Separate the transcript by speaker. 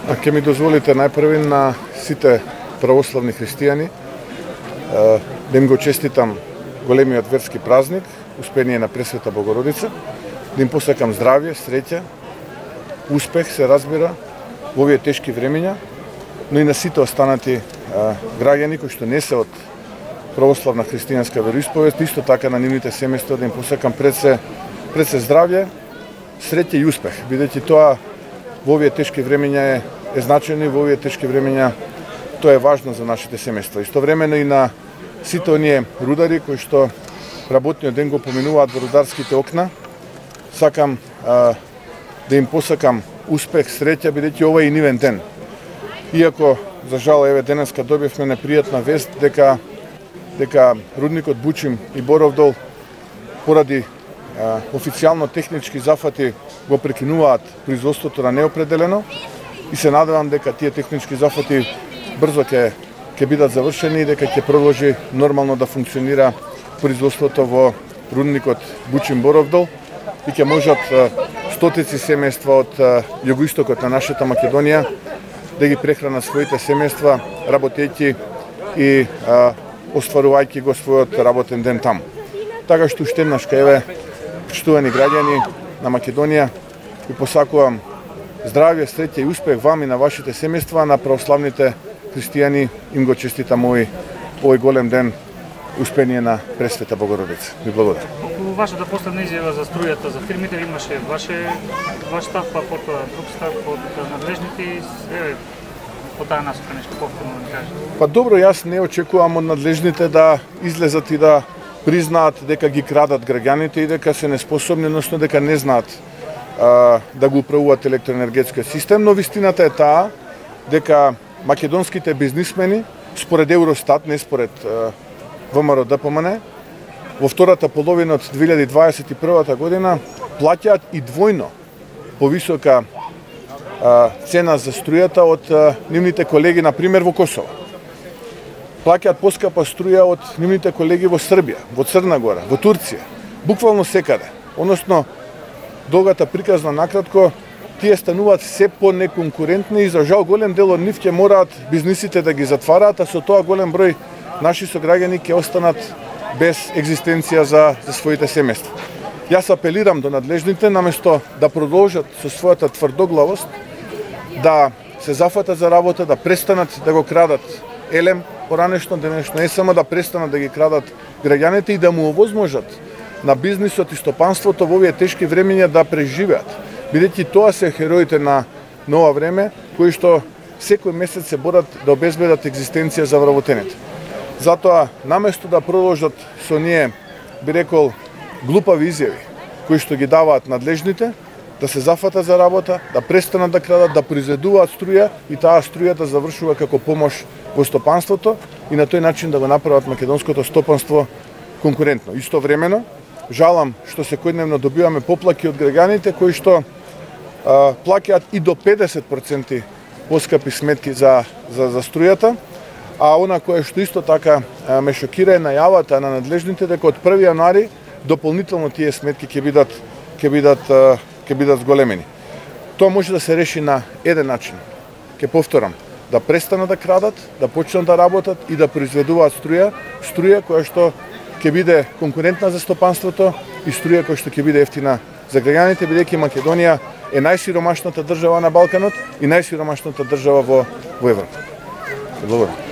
Speaker 1: Ке ми дозволите најпрви на сите православни христијани да им го честитам големиот верски празник, Успение на Пресвета Богородица, да им посакам здравје, среќа, успех, се разбира, во овие тешки времења, но и на сите останати граѓани кои што не се од православна христијанска вероисповест, исто така на нивните семејства да им посакам пред се здравје, среќа и успех, бидејќи тоа во овие тешки времења е значено и во овие тешки времења тоа е важно за нашите семејства. Истовремено и на сите оние рудари кои што работниот ден го поминуваат во рударските окна, сакам да им посакам успех, среќа, бидејќи ова е и нивен ден. Иако, за жал, еве денеска добивме непријатна вест дека рудникот Бучим и Боров дол поради официјално технички зафати го прекинуваат производството на неопределено и се надевам дека тие технички зафати брзо ќе бидат завршени и дека ќе продолжи нормално да функционира производството во рудникот Бучим Боров дол и ќе можат стотици семејства од југоистокот на нашата Македонија да ги прехранат своите семејства, работејќи и остварувајќи го својот работен ден таму. Така што уште еднаш еве, почитувани граѓани на Македонија, ви посакувам здравје, среќа и успех вам и на вашите семејства, на православните христијани им го честитам овој голем ден, Успение на Пресвета Богородица. Ви благодарам.
Speaker 2: Околу вашата последна изјава за струјата за фирмите имаше ваш став, па потоа друг став од надлежните, по таа насока нешто повторно да кажете.
Speaker 1: Па добро, јас не очекувам од надлежните да излезат и да признаат дека ги крадат граѓаните и дека се неспособни, односно дека не знаат да го управуваат електроенергетскиот систем, но вистината е таа дека македонските бизнисмени, според Евростат, не според ВМРО-ДПМН, во втората половина од 2021 година плаќаат и двојно повисока цена за струјата од нивните колеги, например, во Косово. Плаќаат поскапа струја од нивните колеги во Србија, во Црна Гора, во Турција, буквално секаде. Односно, долгата приказна накратко, тие стануваат се по-неконкурентни и за жал голем дел од нив ќе мораат бизнисите да ги затвараат, а со тоа голем број наши сограѓани ќе останат без екзистенција за своите семејства. Јас апелирам до надлежните, наместо да продолжат со својата тврдоглавост, да се зафатат за работа, да престанат да го крадат елем поранешно, денешно, не само да престанат да ги крадат граѓаните и да му овозможат на бизнисот и стопанството во овие тешки времења да преживеат. Бидејќи тоа се хероите на ова време, кои што секој месец се борат да обезбедат екзистенција за вработените. Затоа, наместо да продолжат со ние, би рекол, глупави изјави, кои што ги даваат надлежните, да се зафатат за работа, да престанат да крадат, да произведуваат струја и таа струја да завршува како помош во стопанството и на тој начин да го направат македонското стопанство конкурентно. Истовремено, жалам што секојдневно добиваме поплаки од граѓаните кои што плаќаат и до 50% поскапи сметки за струјата, а она кое што исто така ме шокира е најавата на надлежните дека од 1 јануари дополнително тие сметки ќе бидат зголемени. Тоа може да се реши на еден начин. Ќе повторам, да престанат да крадат, да почнат да работат и да произведуваат струја која што ќе биде конкурентна за стопанството и струја која што ќе биде ефтина за граѓаните, бидејќи Македонија е најсиромашната држава на Балканот и најсиромашната држава во Европа. Благодарам.